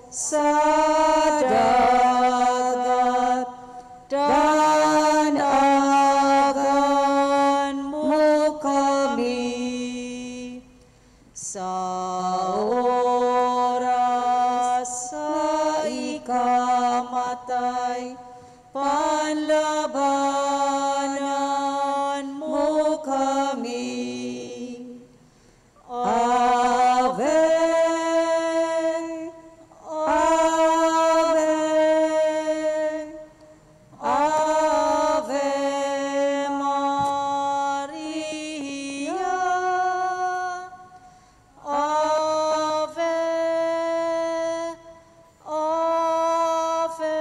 Sa dagat, danagan mo kami. Sa oras sa ikamatay, panlabanan mo kami. Ave, Ave, Ave Maria. Ave, Ave,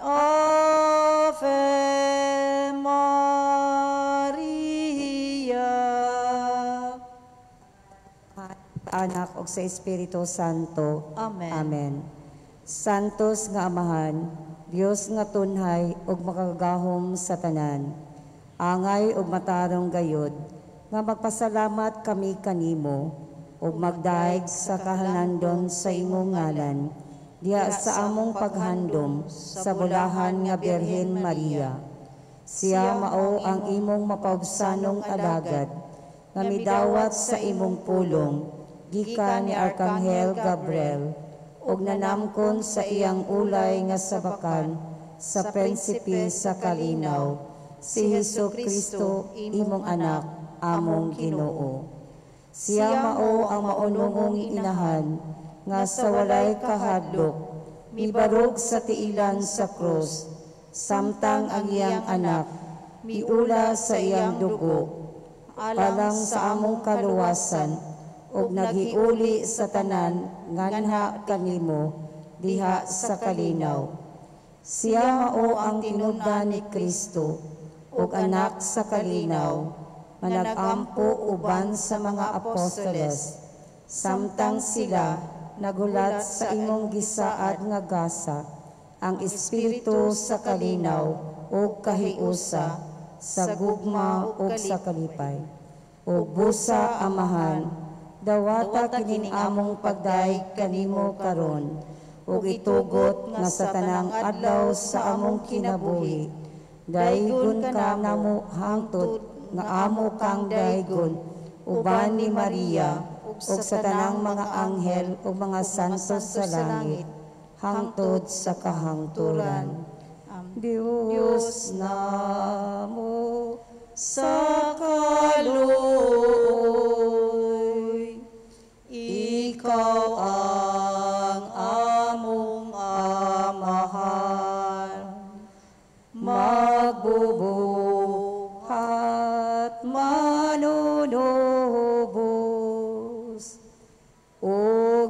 Ave Maria. Anak ug sa Espiritu Santo. Amen. Amen. Santos nga Amahan, Dios nga tunhay ug makagagahom sa tanan. Angay ug matarong gayod nga magpasalamat kami kanimo ug magdaig sa kahalandon sa imong ngalan diha sa among paghandom sa bulahan nga Birhen Maria. Siya mao ang imong mapaubsanong alagad nga midawat sa imong pulong gikan ni Arkanghel Gabriel ug nanamkon sa iyang ulay nga sabakan sa prinsipe sa kalinaw, si Hesus Kristo, imong anak, among Ginoo. Siya mao ang maunungong inahan nga sa walay kahadlok mibarog sa tiilan sa krus, samtang ang iyang anak miula sa iyang dugo alang sa among kaluwasan ug naghiuli sa tanan nganha kanimo diha sa kalinaw. Siya mao ang tinubdan ni Kristo ug anak sa kalinaw nga nag-ampo uban sa mga apostoles samtang sila nagulat sa imong gisaad nga gasa, ang espiritu sa kalinaw ug kahiusa, sa gugma ug sa kalipay. Ug busa, Amahan, dawata kining among pagdaig kanimo karon ug itugot nga sa tanang adlaw sa among kinabuhi daygon ka namo hangtod nga amo kang daygon uban ni Maria ug sa tanang mga anghel ug mga santos sa langit hangtod sa kahangturan. Dios namo sa kaluoy, ikaw ang among Amahan, magbubuhat, manunubos, o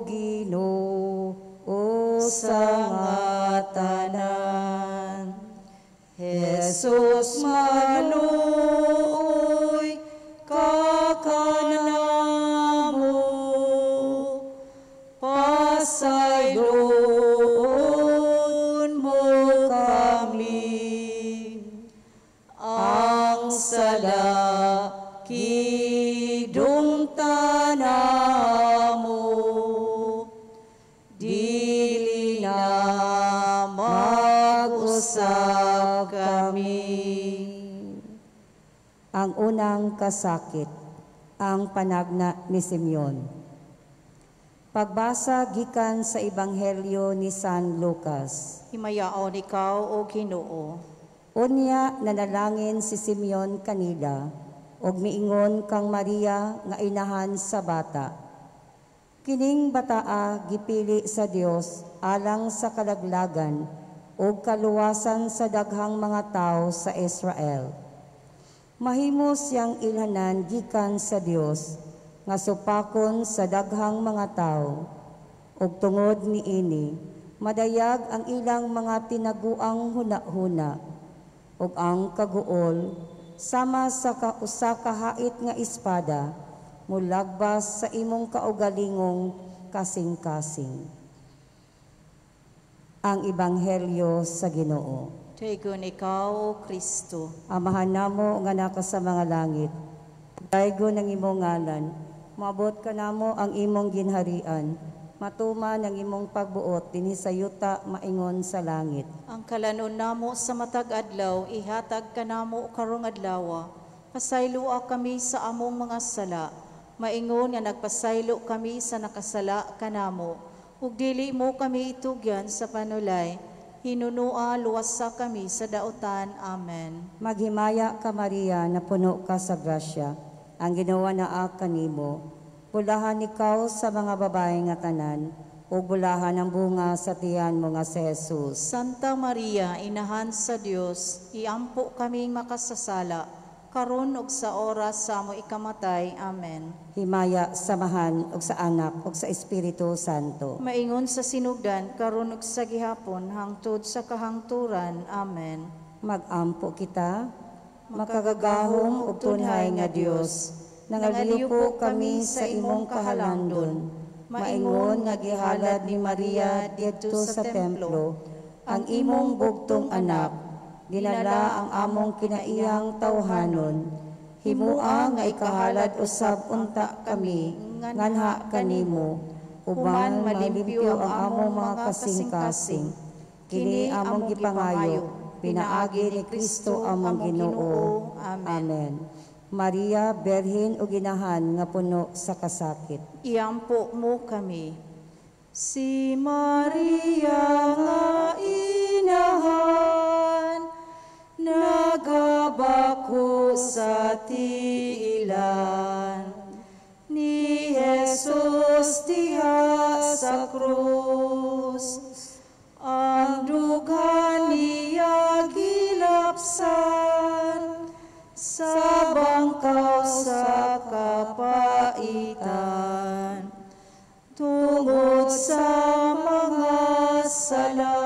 Ginoo sa nga tanan. Jesus, maluoy ka kanamo, pasayloon mo kami. Ang sala kidumtan namo, dili na mag-usab kami. Ang unang kasakit, ang panagna ni Simeon. Pagbasa gikan sa Ebanghelyo ni San Lucas. Himayaon ikaw, O Ginoo. Unya nanalangin si Simeon kanila ug miingon kang Maria nga inahan sa bata. Kining bataa gipili sa Dios alang sa kalaglagan ug kaluwasan sa daghang mga tawo sa Israel. Mahimo siyang ilhanan gikan sa Dios nga supakon sa daghang mga tawo. Ug tungod niini, madayag ang ilang mga tinaguang hunahuna ug ang kaguol sama sa usa ka hait nga espada mulagbas sa imong kaugalingong kasing-kasing. Ang Ebanghelyo sa Ginoo. Daygon ikaw, O Kristo. Amahan namo nga naka sa mga langit, daygon ang imong ngalan, maabot kanamo ang imong ginharian, Matuman ang imong pagbuot dinhi sa yuta maingon sa langit. Ang kalanon namo sa matag adlaw ihatag kanamo karong adlaw. Pasayloa kami sa among mga sala, maingon nga nagpasaylo kami sa nakasala kanamo. Ug dili mo kami itugyan sa panulay, hinunua luwasa kami sa dautan. Amen. Maghimaya ka, Maria, na puno ka sa grasya. Ang Ginoo naa kanimo. Bulahan ikaw sa mga babae nga tanan, ug bulahan ang bunga sa tiyan mo nga si Jesus. Santa Maria, inahan sa Dios, iampo kaming makasasala, karon ug sa oras sa amo ikamatay. Amen. Himaya sa Amahan ug sa Anak ug sa Espiritu Santo. Maingon sa sinugdan, karon ug sa gihapon, hangtod sa kahangturan. Amen. Magampo kita, makagagahom ug tunhay nga Dios, nangaliw po kami sa imong kahalandon, maingon nga gihalad ni Maria didto sa templo, ang imong bugtong anak, dinala ang among kinaiyang tawhanon. Himua nga ikahalad usab unta kami, nganha kanimo, uban malimpyo ang among mga kasing-kasing. Kini among gipangayo, pinaagi ni Kristo among Ginoo. Amen. Maria, Berhin ug Inahan nga puno sa kasakit, iampo mo kami. Si Maria nga inahan, nagabako sa tiilan ni Jesus diha sa krus. Ang dughan niya gilapsan sa bangkaw sa kapaitan, tungod sa mga sala.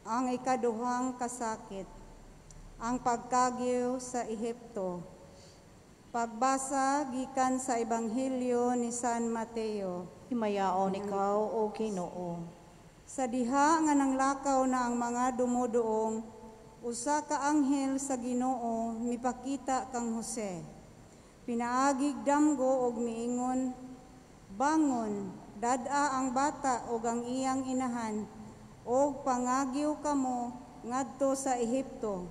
Ang ikaduhang kasakit, ang pagkagiw sa Ehipto. Pagbasa gikan sa Ebanghelyo ni San Mateo. Himayaon ikaw, o Ginoo. Sa diha nga nanglakaw na ang mga dumuduong, usa ka anghel sa Ginoo mipakita kang Jose. Pinaagig damgo og miingon, bangon, dad-a ang bata og ang iyang inahan, og pangagiw kamo ngadto sa Ehipto.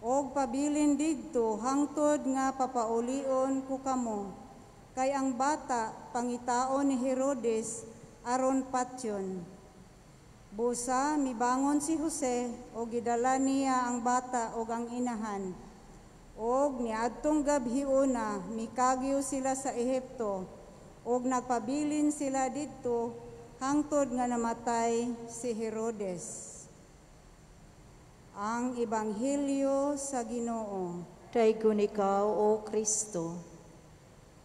Og pabilin didto hangtod nga papaulion ko kamo, kay ang bata pangitaon ni Herodes aron patyon. Busa mibangon si Jose og gidala niya ang bata og ang inahan. Og niadtong gabhiuna mikagiw sila sa Ehipto, og nagpabilin sila didto hangtod nga namatay si Herodes. Ang Ebanghelyo sa Ginoo. Daygon ikaw, O Kristo.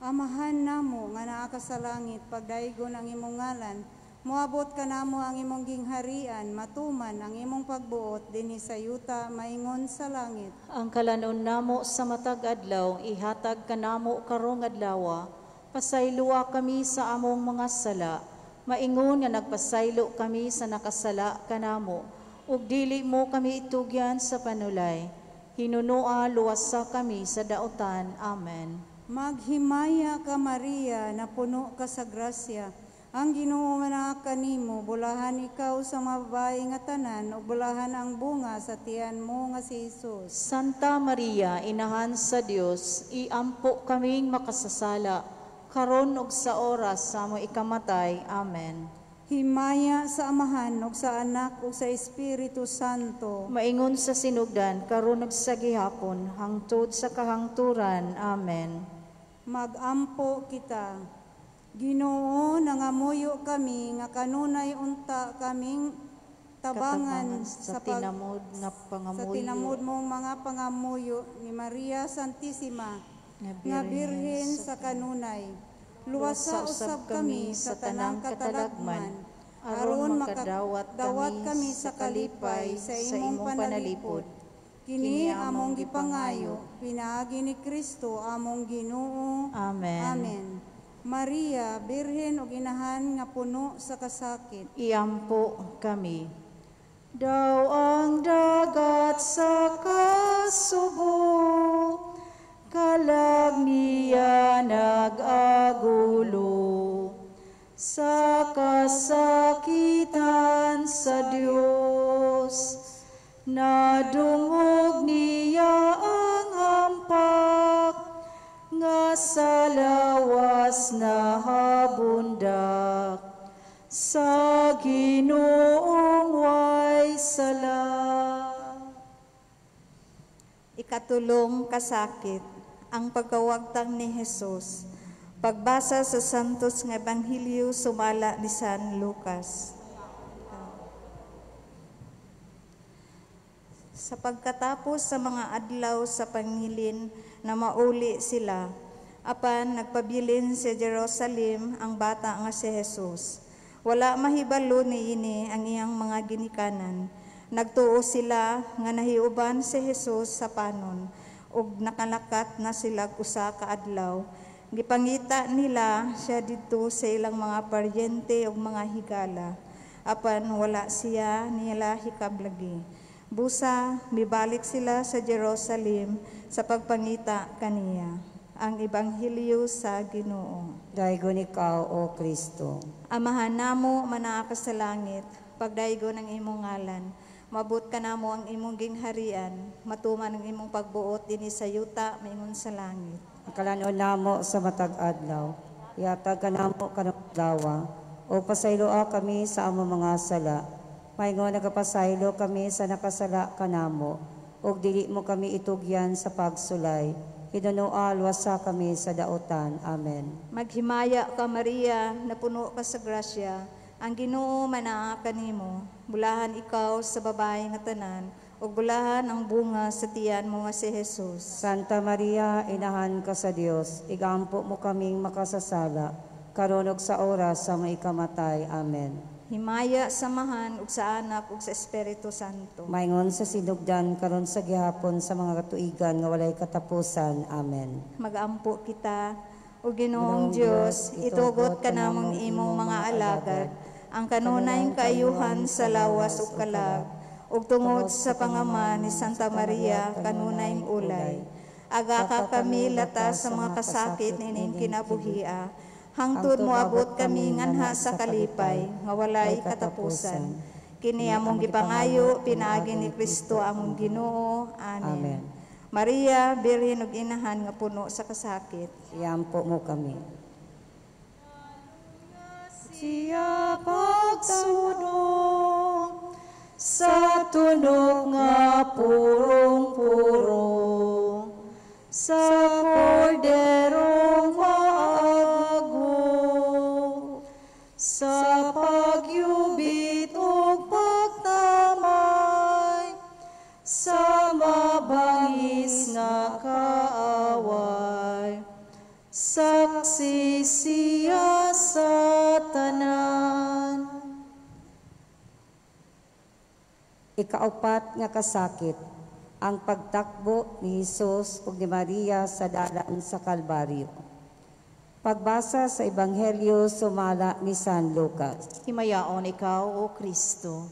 Amahan namo nga naa ka sa langit, pagdaygon ang imong ngalan, moabot kanamo ang imong gingharian, matuman ang imong pagbuot dinhi sa yuta maingon sa langit. Ang kalanon namo sa matag adlaw ihatag kanamo karong adlaw. Pasayloa kami sa among mga sala, maingon nga nagpasaylo kami sa nakasala kanamo, ug dili mo kami itugyan sa panulay. Hinunua luwasa kami sa dautan. Amen. Maghimaya ka, Maria, na puno ka sa grasya. Ang Ginoo naa kanimo, bulahan ikaw sa mga babae nga tanan, ug bulahan ang bunga sa tiyan mo nga si Jesus. Santa Maria, inahan sa Dios, iampo kaming makasasala, karon ug sa oras sa among ikamatay. Amen. Himaya sa Amahan ug sa Anak ug sa Espiritu Santo. Maingon sa sinugdan, karon ug sa gihapon, hangtod sa kahangturan. Amen. Magampo kita. Ginoo, nangamuyo kami nga kanunay unta kaming tabangan sa tinamod nga pangamuyo, sa tinamod mong mga pangamuyo ni Maria Santissima nga birhen sa kanunay. Luwasa usab kami sa tanang katalagman, aron makadawat kami sa kalipay sa imong panalipod. Kini among gipangayo, pinaagi ni Kristo among Ginoo. Amen. Amen. Maria, birhen ug inahan nga puno sa kasakit, iampo kami. Daw ang dagat sa kasubo, Ikatulong kasakit, ang pagkawagtang ni Jesus. Pagbasa sa Santos nga Ebanghelyo sumala ni San Lucas. Sa pagkatapos sa mga adlaw sa pangilin na mauli sila, apan nagpabilin sa Jerusalem ang bata nga si Jesus. Wala mahibalo niini ang iyang mga ginikanan. Nagtuo sila nga nahiuban si Jesus sa panon ug nakalakat na sila usa ka adlaw. Gipangita nila siya didto sa ilang mga paryente ug mga higala. Apan wala siya nila hikablagi. Busa mibalik sila sa Jerusalem sa pagpangita kaniya. Ang Ebanghelyo sa Ginoo. Daygon ikaw, O Kristo. Amahan namo manaa ka sa langit, pagdaygon ang imong ngalan. Mabot ka namo ang imong gingharian, matuman ang imong pagbuot dinhi sa yuta maingon sa langit. Ang kalan-on namo sa matag adlaw, ihatag kanamo karong adlaw, o pasayloa kami sa among mga sala. Maingon nagapasaylo kami sa nakasala kanamo, ug dili mo kami itugyan sa pagsulay. Hinunoa, luwasa kami sa daotan. Amen. Maghimaya ka, Maria, napuno ka sa grasya. Ang Ginoo manaa kanimo. Bulahan ikaw sa babae nga tanan, ug bulahan ang bunga sa tiyan mo nga si Jesus. Santa Maria, inahan ka sa Dios, igampo mo kaming makasasala, karon ug sa oras sa among ikamatay. Amen. Himaya sa Amahan ug sa Anak ug sa Espiritu Santo. Maingon sa sinugdan karon sa gihapon sa mga katuigan nga walay katapusan. Amen. Magampo kita, o Ginoong Dios, itugot kanamong imong mga alagad ang kanunay kaayuhan sa lawas ug kalag, ug tungod sa pangama ni Santa Maria kanunay ulay. Aga ka kami lata sa mga kasakit nining kinabuhia, hangtod moabot kami nganha sa kalipay nga walay katapusan. Kini among gipangayo pinaagi ni Kristo among Ginoo. Amen. Amen. Maria, Birhen ug Inahan nga puno sa kasakit, Iampo mo kami. Siya pagsunod sa tunog nga purong-purong, sa korderong maago, sa pagyubit ug pagtamay, sa mabangis nga kaaway, saksi siya sa tanan. Ikaupat nga kasakit, ang pagtakbo ni Jesus ug ni Maria sa dalan sa Kalbaryo. Pagbasa sa Ebanghelyo sumala ni San Lucas. Himayaon ikaw, O Kristo.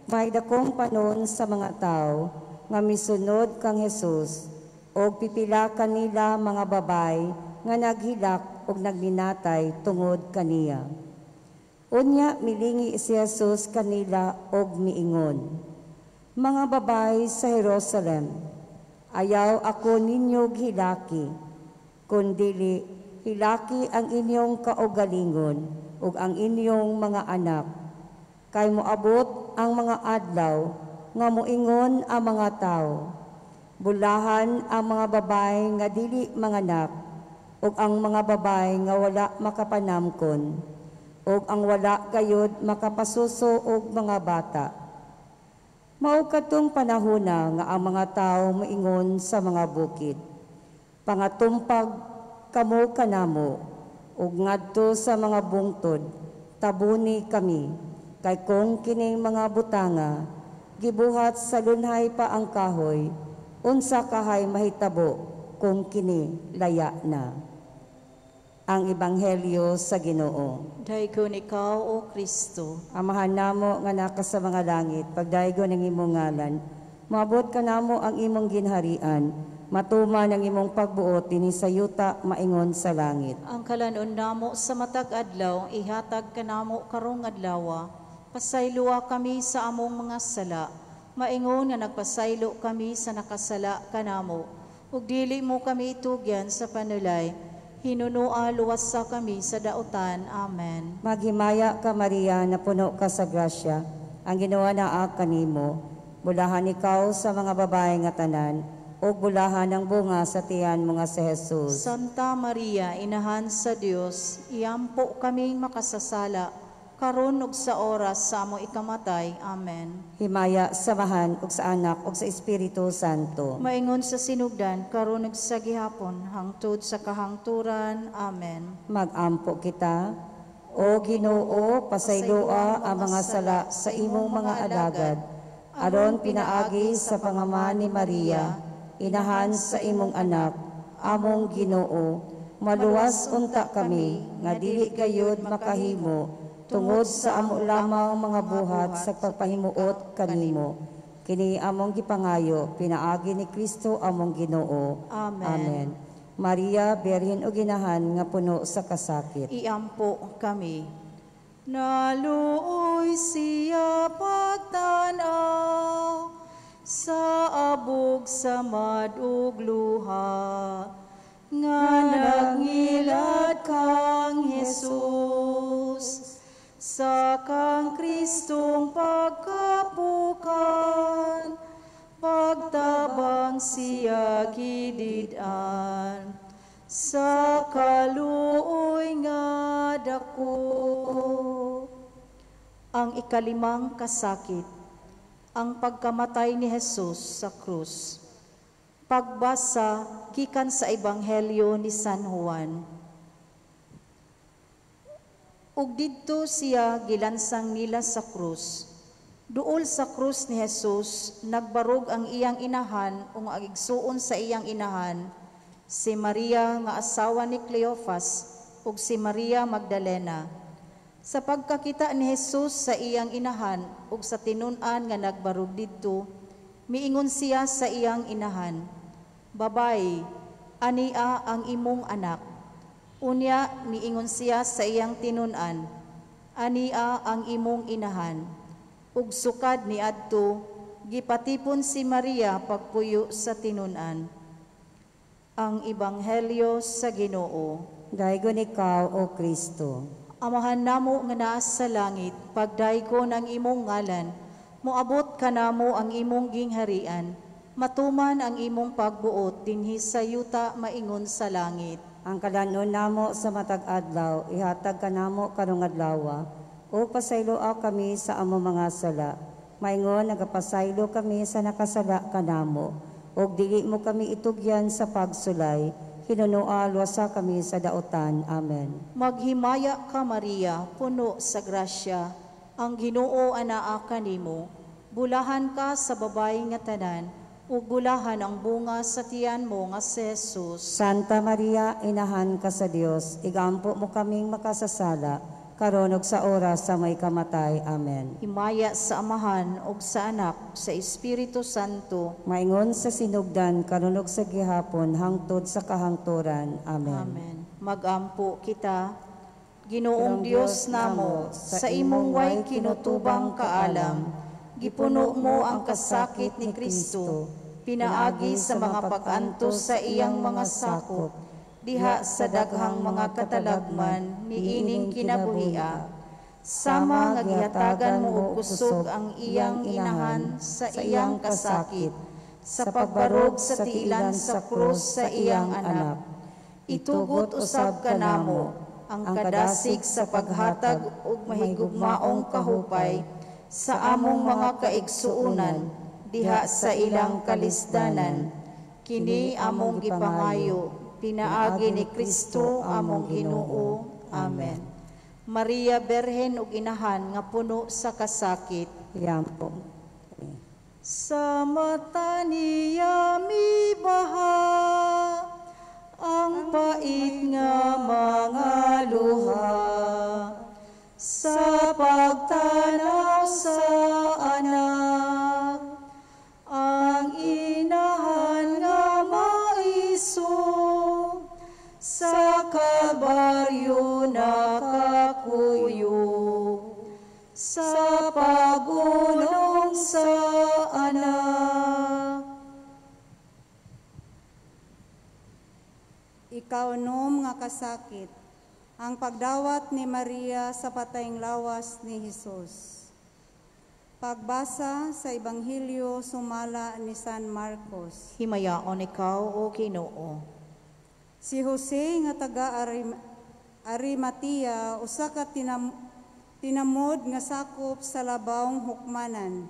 May dakong panon sa mga tao nga misunod kang Jesus og pipila kanila mga babay nga naghilak og nagminatay tungod kaniya. Unya milingi si Jesus kanila og miingon, "Mga babay sa Jerusalem, ayaw ako ninyo hilaki, kundili hilaki ang inyong kaugalingon ug ang inyong mga anak. Kay moabot ang mga adlaw nga moingon ang mga tawo, bulahan ang mga babay nga dili manganak ug ang mga babay nga wala makapanamkon ug ang wala gayud makapasuso og mga bata. Mao kadtong panahona nga ang mga tawo moingon sa mga bukid, pangatumpag kamo kanamo, ug ngadto sa mga bungtod, tabuni kami, kay kung kining mga butanga gibuhat sa lunhay pa ang kahoy, unsa kahay mahitabo kung kini laya na." Ang Ebanghelyo sa Ginoo. Daygon ikaw, O Kristo. Amahan namo nga naka sa mga langit, pagdaygon ang imong ngalan, moabot kanamo ang imong ginharian, matuman ang imong pagbuot dinhi sa yuta maingon sa langit. Ang kalan-on namo sa matag adlaw ihatag kanamo karong adlaw. Pasayloa kami sa among mga sala, maingon nga nagpasaylo kami sa nakasala kanamo. Ug dili mo kami itugyan sa panulay, hinunoa luwasa kami sa dautan. Amen. Maghimaya ka, Maria, napuno ka sa grasya, ang Ginoo naa kanimo. Bulahan ikaw sa mga babae nga tanan, ug bulahan ang bunga sa tiyan mo nga si Jesus. Santa Maria, Inahan sa Dios, iampo kaming makasasala, karon ug sa oras sa among ikamatay. Amen. Himaya sa Amahan ug sa Anak ug sa Espiritu Santo. Maingon sa sinugdan, karon ug sa gihapon, hangtod sa kahangturan. Amen. Magampo kita. O Ginoo, pasayloa ang mga sala sa imong mga alagad, aron pinaagi sa pangama ni Maria, inahan sa imong anak, among Ginoo, maluwas unta kami nga dili gayud makahimo tungod sa amo lamang mga buhat sa pagpahimuot kanimo. Kini among gipangayo pinaagi ni Kristo among Ginoo. Amen. Amen. Maria, Birhen ug Inahan nga puno sa kasakit. Iampo kami. Naluoy siya pagtanaw sa abog sa madug luha, nga nagngilad kang Jesus sa kang Kristong pagkapukan, pagtabang siya gidid-an sa kaluoy nga dako. Ang ikalimang kasakit, ang pagkamatay ni Jesus sa krus. Pagbasa gikan sa Ebanghelyo ni San Juan. Ug didto siya gilansang nila sa krus. Duol sa krus ni Jesus, nagbarog ang iyang inahan o ang igsuon sa iyang inahan, si Maria nga asawa ni Cleophas ug si Maria Magdalena. Sa pagkakita ni Jesus sa iyang inahan ug sa tinun-an nga nagbarog didto, miingon siya sa iyang inahan, "Babay, ania ang imong anak." Unya miingon siya sa iyang tinun-an, "Ania ang imong inahan." Ug sukad niadto, gipatipon si Maria pagpuyo sa tinun-an. Ang Ebanghelyo sa Ginoo. Daygon ikaw, O Kristo. Amahan namo nga naa sa langit, pagdaygon ang imong ngalan, moabot kanamo ang imong gingharian, matuman ang imong pagbuot dinhi sa yuta maingon sa langit. Ang kalanon namo sa matag adlaw, ihatag kanamo karong adlaw, ug pasayloa kami sa among mga sala. Maingon nagapasaylo kami sa nakasala kanamo, ug dili mo kami itugyan sa pagsulay, hinunoa luwasa kami sa daotan. Amen. Maghimaya ka, Maria, puno sa grasya, ang Ginoo anaa kanimo. Bulahan ka sa babayi nga tanan, ug bulahan ang bunga sa tiyan mo nga si Jesus. Santa Maria, inahan ka sa Dios, igampo mo kaming makasasala, karon ug sa oras sa may kamatay. Amen. Himaya sa Amahan ug sa Anak, sa Espiritu Santo. Maingon sa sinugdan, karon ug sa gihapon, hangtod sa kahangturan. Amen. Amen. Magampo kita. Ginoong Dios namo, sa imong way kinutubang kaalam, gipuno mo ang kasakit ni Kristo, pinaagi sa mga pag-antos sa iyang mga sakop, diha sa daghang mga katalagman niining kinabuhia. Sama nga gihatagan mo og kusog ang iyang inahan sa iyang kasakit, sa pagbarog sa tiilan sa krus sa iyang anak. Itugot usab kanamo ang kadasig sa paghatag og mahigugmaong kahupay sa among mga kaigsuonan diha sa ilang kalisdanan. Kini among gipangayo pinaagi ni Kristo among Ginoo. Amen. Maria Berhen ug Inahan nga puno sa kasakit. Iampo. Sa mata niya mibaha ang pait nga mga luha, sa pagtanaw sa anak, ang inahan nga maiso, sa Kalbaryo nakakuyog, sa pagulong sa anak. Ikaunom nga kasakit, ang pagdawat ni Maria sa patayng lawas ni Hesus. Pagbasa sa Ebanghelyo sumala ni San Marcos. Himayaon ikaw, O Ginoo. Si Jose nga taga Arimatea, usa ka tinamod nga sakop sa labawng hukmanan.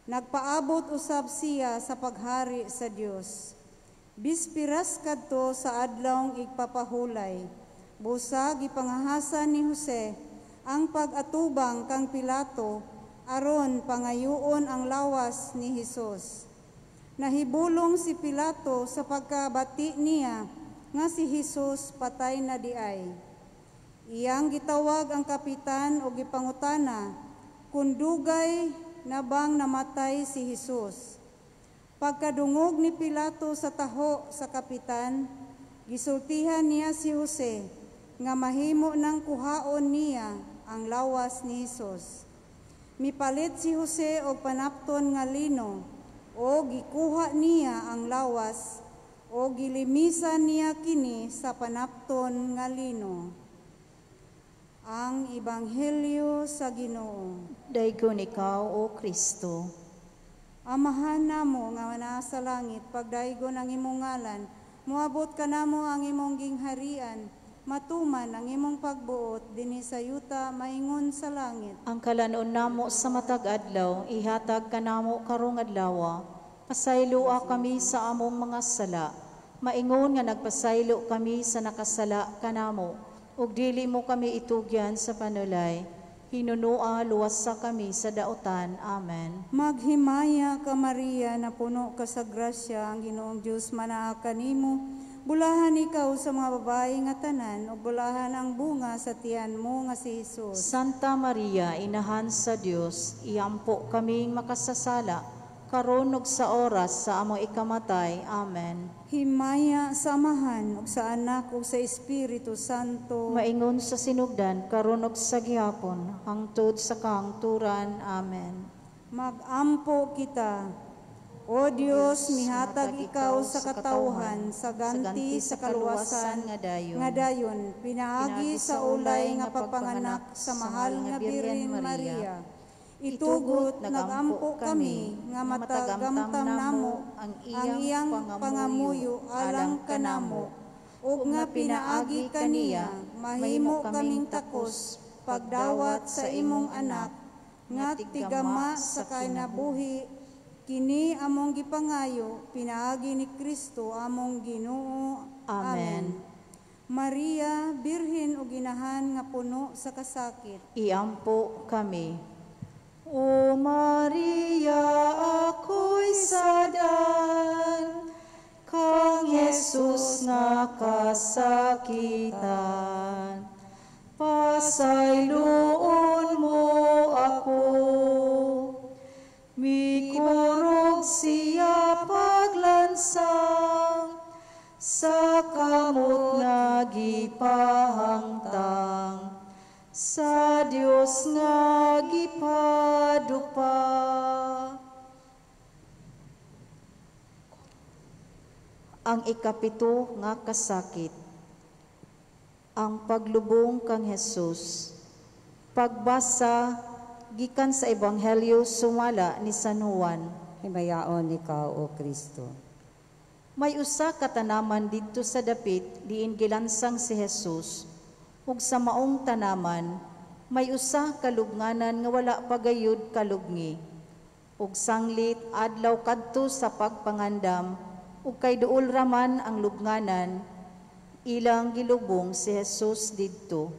Nagpaabot usab siya sa paghari sa Dios. Bispiras kadto sa adlawng igpapahulay. Busa gipangahasan ni Jose ang pag-atubang kang Pilato aron pangayuon ang lawas ni Hesus. Nahibulong si Pilato sa pagkabati niya nga si Hesus patay na diay. Iyang gitawag ang kapitan o gipangutana kung dugay na bang namatay si Hesus. Pagkadungog ni Pilato sa taho sa kapitan, gisultihan niya si Jose nga mahimo nang kuhaon niya ang lawas ni Hesus. Mipalit si Jose og panapton nga lino, o gikuha niya ang lawas, o gilimisan niya kini sa panapton nga lino. Ang Ebanghelyo sa Ginoo. Daygon ikaw, O Kristo. Amahan namo nga naa sa langit, pagdaygon ang imong ngalan, moabot kanamo ang imong gingharian, matuman ang imong pagbuot dinhi sa yuta maingon sa langit. Ang kalanon namo sa matag adlaw, ihatag kanamo karong adlaw. Pasayloa kami sa among mga sala, maingon nga nagpasaylo kami sa nakasala kanamo, ug dili mo kami itugyan sa panulay. Hinunua, luwasa kami sa daotan. Amen. Maghimaya ka, Maria, na puno ka sa grasya, ang Ginoong Dios manaa kanimo. Bulahan ikaw sa mga babae nga tanan, ug bulahan ang bunga sa tiyan mo nga si Hesus. Santa Maria, inahan sa Dios, iampo kaming makasasala, karon ug sa oras sa among ikamatay. Amen. Himaya sa Amahan ug sa Anak ug sa Espiritu Santo. Maingon sa sinugdan, karon ug sa gihapon, hangtod sa kahangturan. Amen. Magampo kita. O Dios, mihatag ikaw sa katawhan sa ganti sa kaluwasan nga dayon pinaagi sa ulay nga pagpanganak sa mahal nga Birhen Maria. Itugot nagampo kami nga matagamtam namo ang iyang pangamuyo alang kanamo, ug nga pinaagi kaniya mahimo kaming takos pagdawat sa imong anak nga tigama sa kinabuhi. Kini among gipangayo pinaagi ni Kristo among Ginoo. Amen. Maria, birhen ug ginahan nga puno sa kasakit, iampo kami. O Maria, ako'y sadan, kang Jesus nga kasakitan. Pasayloon mo ako, mikurog siya paglansang, sa kamot nga gipahangtang, sa Dios nga gipadupa. Ang ikapito nga kasakit, ang paglubong kang Hesus. Pagbasa gikan sa Ebanghelyo sumala ni San Juan. Himayaon ikaw, O Kristo. May usa ka tanaman didto sa dapit diin gilansang si Hesus, ug sa maong tanaman may usa ka lubnganan nga wala pa gayud kalubngi. Ug sanglit adlaw kadto sa pagpangandam, ug kay duol raman ang lubnganan, ilang gilubong si Hesus didto.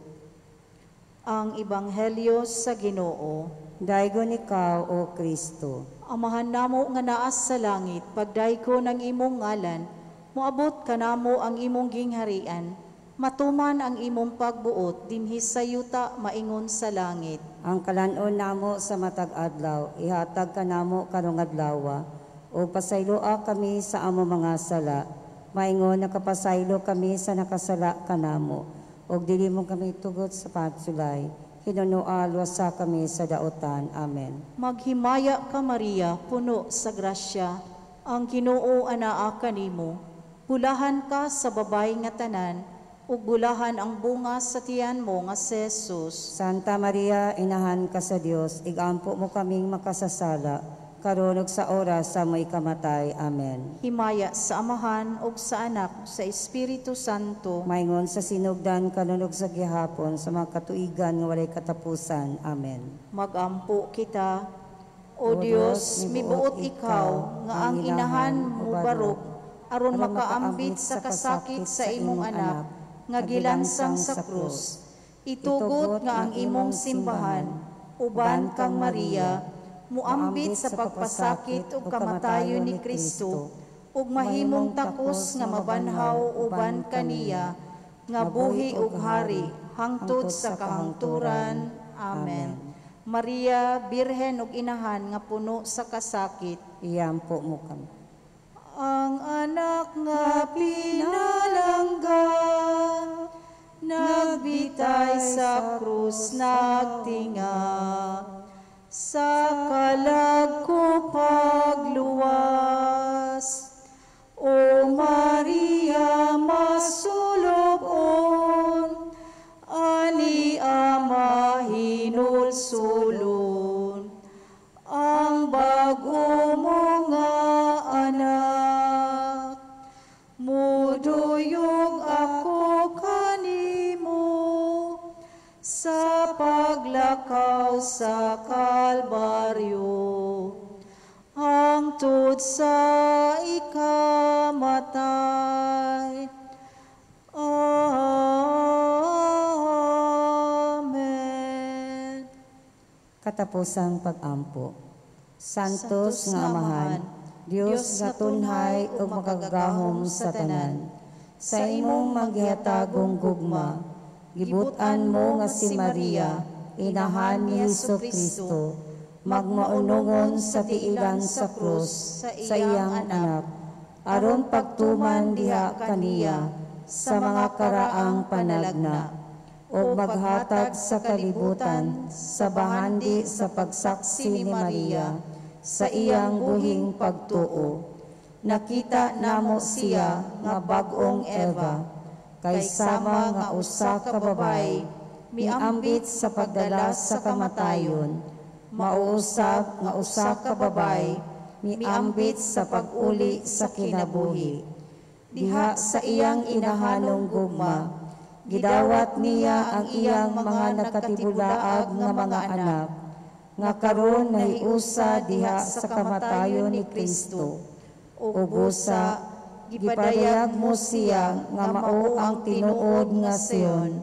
Ang Ebanghelyo sa Ginoo. Daygon ikaw, O Kristo. Amahan namo nga naa sa langit, pagdaygon ang imong ngalan, moabot kanamo ang imong gingharian, matuman ang imong pagbuot dinhi sa yuta maingon sa langit. Ang kalan-on namo sa matag adlaw, ihatag kanamo karong adlaw, ug pasayloa kami sa among mga sala, maingon nakapasaylo kami sa nakasala kanamo, ug dili mo kami tugot sa pagsulay, hinunoa luwasa kami sa daotan. Amen. Maghimaya ka, Maria, puno sa grasya, ang Ginoo anaa kanimo. Bulahan ka sa babae nga tanan, ug bulahan ang bunga sa tiyan mo nga si Jesus. Santa Maria, inahan ka sa Dios, igampo mo kaming makasasala, karon ug sa oras sa among ikamatay. Amen. Himaya sa Amahan ug sa Anak sa Espiritu Santo. Maingon sa sinugdan karon ug sa gihapon sa mga katuigan nga walay katapusan. Amen. Magampo kita. O Dios, mibuot ikaw nga ang inahan mo barog aron makaambit sa kasakit sa imong anak nga gilansang sa krus. Itugot nga ang imong simbahan uban kang Maria muambit sa pagpasakit ug kamatayon ni Kristo ug mahimong takos nga mabanhaw uban kaniya nga buhi ug hari hangtod sa kahangturan. Amen. Maria, Birhen ug inahan nga puno sa kasakit, Iampo mo kami. Ang anak nga pinalangga, nagbitay sa krus, nagtinga, sa kalag ko pagluwas. O Maria, masulobon, ani Ama hinulsulon, ang bag-o mo nga anak. Muduyog ako kanimo sa paglakaw sa Kalbaryo, hangtod sa ikamatay. Amen. Katapusang pag-ampo. Santos nga Amahan, Dios nga tunhay ug makagagahom sa tanan. Sa imong manggihatagong gugma, gibut-an mo nga si Maria, inahan ni Hesus Kristo, magmaunongon sa tiilan sa krus sa iyang anak, aron pagtuman diha kaniya sa mga karaang panalagna, ug maghatag sa kalibutan sa bahandi sa pagsaksi ni Maria sa iyang buhing pagtuo. Nakita namo siya nga bag-ong Eva, kay sama nga usa ka babaye miambit sa pagdala sa kamatayon, mauusab nga usa ka babaye miambit sa pag-uli sa kinabuhi. Diha sa iyang inahanong gugma, gidawat niya ang iyang mga nagkatibulaag nga mga anak, nga karon nahiusa diha sa kamatayon ni Kristo. Ug busa, gipadayag mo siya nga mao ang tinuod nga Sion,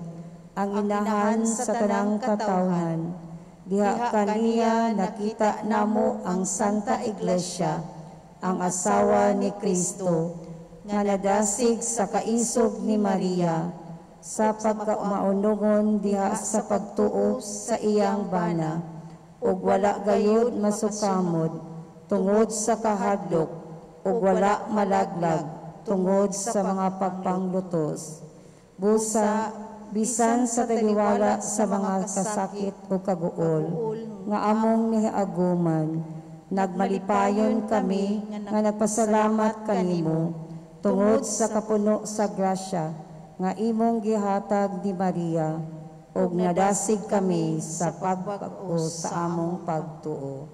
ang inahan sa tanang katawhan. Diha kaniya nakita namo ang Santa Iglesia, ang asawa ni Kristo, nga nadasig sa kaisog ni Maria, sa pagkamaunongon diha sa pagtuo sa iyang bana, ug wala gayud masukamod tungod sa kahadlok, ug wala malaglag tungod sa mga pagpanglutos. Busa, bisan sa taliwala sa mga kasakit o kaguol nga among niaguman, nagmalipayon kami nga nagpasalamat kanimo tungod sa kapuno sa grasya nga imong gihatag ni Maria, ug nadasig kami sa pagbag-o sa among pagtuo.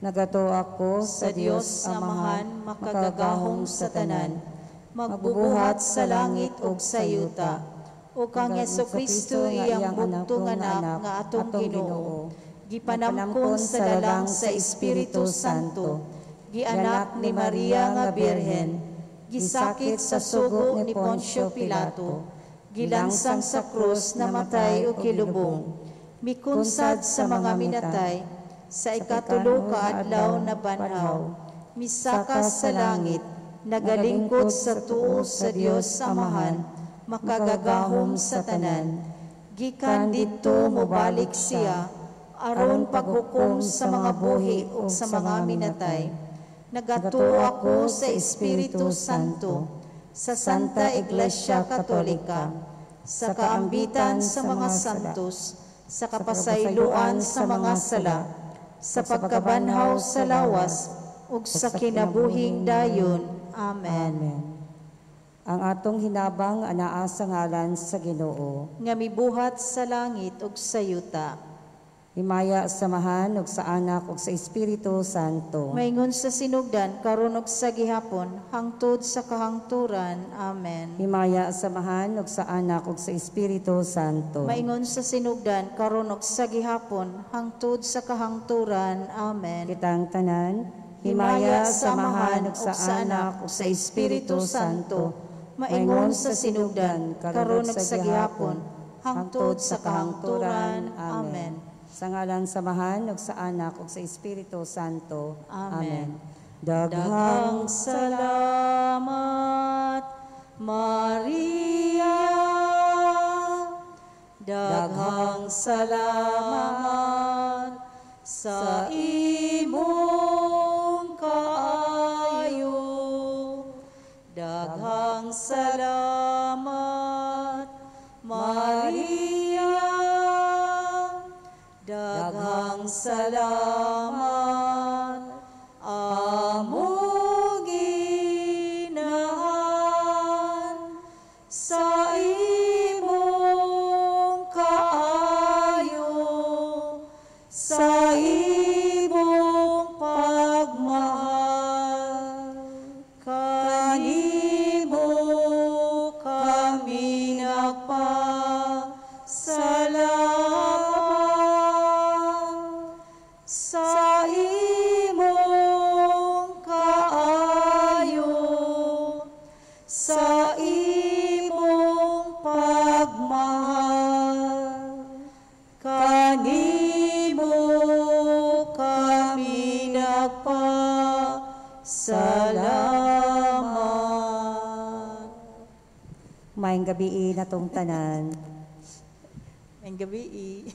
Nagatuo ako sa Dios Amahan, makagagahom sa tanan, magbubuhat sa langit ug sa yuta, ug kang Hesukristo iyang bugtong anak nga atong Ginoo, gipanamkon sa lalang sa Espiritu Santo, gianak ni Maria nga Birhen, gisakit sa sugo ni Poncio Pilato, gilansang sa krus, namatay ug kilubong, mikunsad sa mga minatay, sa ikatulo ka adlaw na banhaw, misaka sa langit, nagalingkod sa tuo sa Dios Amahan, makagagahom sa tanan. Gikan didto mobalik siya, aron paghukom sa mga buhi ug sa mga minatay. Nagatuo ako sa Espiritu Santo, sa Santa Iglesia Katolika, sa kaambitan sa mga santos, sa kapasayloan sa mga sala, sa pagkabanhaw sa lawas, ug sa kinabuhing dayon. Amen. Amen. Ang atong hinabang anaa sa ngalan sa Ginoo, nga mibuhat sa langit ug sa yuta. Himaya sa Amahan ug sa Anak ug sa Espiritu Santo. Maingon sa sinugdan, karon ug sa gihapon, hangtod sa kahangturan. Amen. Himaya sa Amahan ug sa Anak ug sa Espiritu Santo. Maingon sa sinugdan, karon ug sa gihapon, hangtod sa kahangturan. Amen. Kitang tanan, himaya sa Amahan ug sa Anak ug sa Espiritu Santo. Maingon sa sinugdan, karon ug sa gihapon, hangtod sa kahangturan. Amen. Sa ngalan sa Amahan ug sa Anak ug sa Espiritu Santo. Amen. Daghang Daghang salamat, Maria. Daghang salamat sa imong kaayo. Daghang salamat, Maria. Daghang salamat, among Inahan, sa imong kaayo, sa imong pagmahal. Kanimo kami nagpasalamat sa imong kaayo, sa imong pagmahal. Kanimo kami nagpasalamat. Maayong gabii natong tanan. Maayong gabii.